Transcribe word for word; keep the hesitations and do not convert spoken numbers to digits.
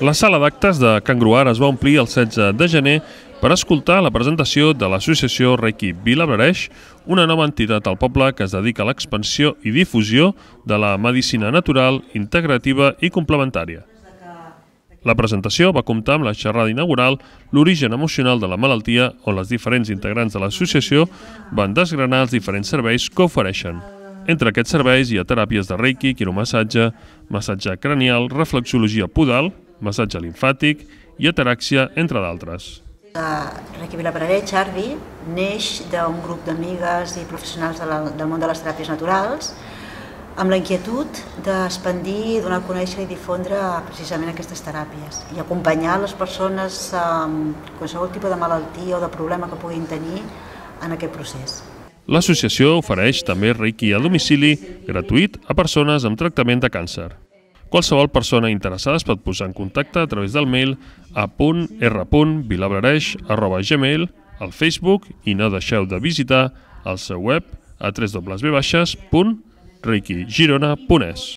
La sala d'actes de Can Gruar es va omplir el setze de gener per escoltar la presentació de l'associació Reiki Vilablareix, una nova entitat al poble que es dedica a l'expansió i difusió de la medicina natural, integrativa i complementària. La presentació va comptar amb la xerrada inaugural L'origen emocional de la malaltia, on les diferents integrants de l'associació van desgranar els diferents serveis que ofereixen. Entre aquests serveis hi ha teràpies de Reiki, quiromassatge, massatge cranial, reflexologia podal, massatge limfàtic i ataràxia, entre d'altres. Reiki Vilablareix, Arvi, neix d'un grup d'amigues i professionals del món de les teràpies naturals amb la inquietud d'expandir, donar a conèixer i difondre precisament aquestes teràpies i acompanyar les persones amb qualsevol tipus de malaltia o de problema que puguin tenir en aquest procés. L'associació ofereix també Reiki a domicili gratuït a persones amb tractament de càncer. Qualsevol persona interessada es pot posar en contacte a través del mail a punt r punt vilablareix arroba gmail, al Facebook, i no deixeu de visitar el seu web a w w w punt reiki girona punt es.